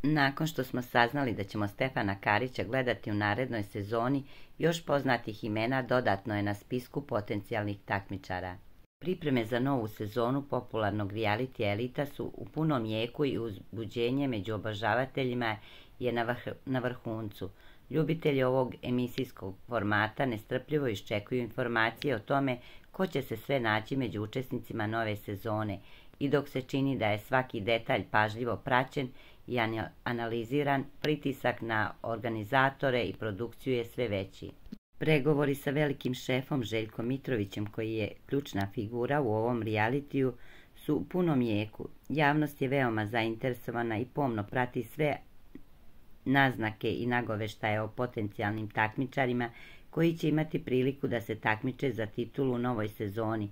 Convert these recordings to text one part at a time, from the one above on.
Nakon što smo saznali da ćemo Stefana Karića gledati u narednoj sezoni, još poznatih imena dodatno je na spisku potencijalnih takmičara. Pripreme za novu sezonu popularnog reality Elita su u punom jeku i uzbuđenje među obožavateljima je na vrhuncu. Ljubitelji ovog emisijskog formata nestrpljivo iščekuju informacije o tome ko će se sve naći među učesnicima nove sezone i dok se čini da je svaki detalj pažljivo praćen i analiziran, pritisak na organizatore i produkciju je sve veći. Pregovori sa velikim šefom Željkom Mitrovićem, koji je ključna figura u ovom realitiju, su u punom jeku. Javnost je veoma zainteresovana i pomno prati sve naznake i nagoveštaje o potencijalnim takmičarima koji će imati priliku da se takmiče za titulu u novoj sezoni.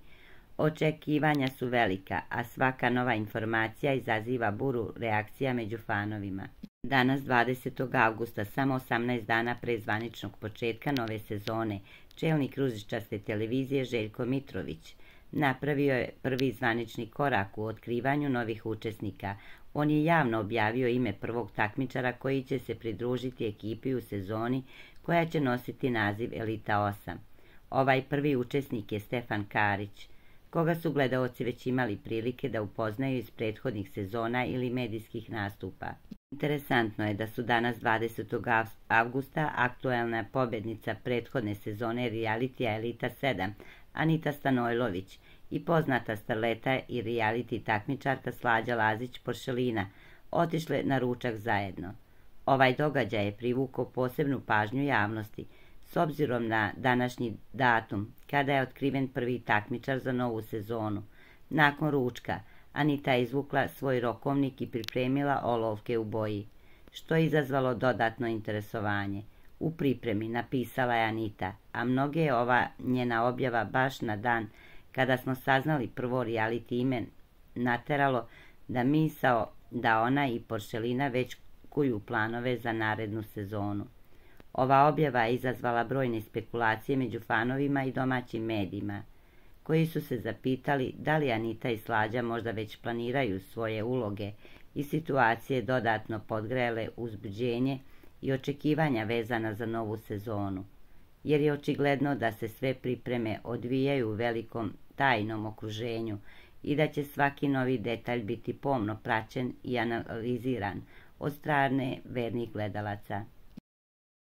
Očekivanja su velika, a svaka nova informacija izaziva buru reakcija među fanovima. Danas, 20. avgusta, samo 18 dana pre zvaničnog početka nove sezone, čelnik ružičaste televizije Željko Mitrović napravio je prvi zvanični korak u otkrivanju novih učesnika. On je javno objavio ime prvog takmičara koji će se pridružiti ekipi u sezoni koja će nositi naziv Elita 8. Ovaj prvi učesnik je Stefan Karić, koga su gledaoci već imali prilike da upoznaju iz prethodnih sezona ili medijskih nastupa. Interesantno je da su danas 20. avgusta aktuelna pobednica prethodne sezone realitija Elita 7, Anita Stanojlović, i poznata starleta i reality takmičarka Slađa Lazić-Poršelina otišle na ručak zajedno. Ovaj događaj je privukao posebnu pažnju javnosti, s obzirom na današnji datum, kada je otkriven prvi takmičar za novu sezonu. Nakon ručka, Anita je izvukla svoj rokovnik i pripremila olovke u boji, što je izazvalo dodatno interesovanje. U pripremi, napisala je Anita, a mnoge je ova njena objava baš na dan kada smo saznali prvo reality ime nateralo da misao da ona i Poršelina već kuju planove za narednu sezonu. Ova objava je izazvala brojne spekulacije među fanovima i domaćim medijima, koji su se zapitali da li Anita i Slađa možda već planiraju svoje uloge i situacije dodatno podgrele uzbuđenje i očekivanja vezana za novu sezonu, jer je očigledno da se sve pripreme odvijaju u velikom tajnom okruženju i da će svaki novi detalj biti pomno praćen i analiziran od strane vernih gledalaca.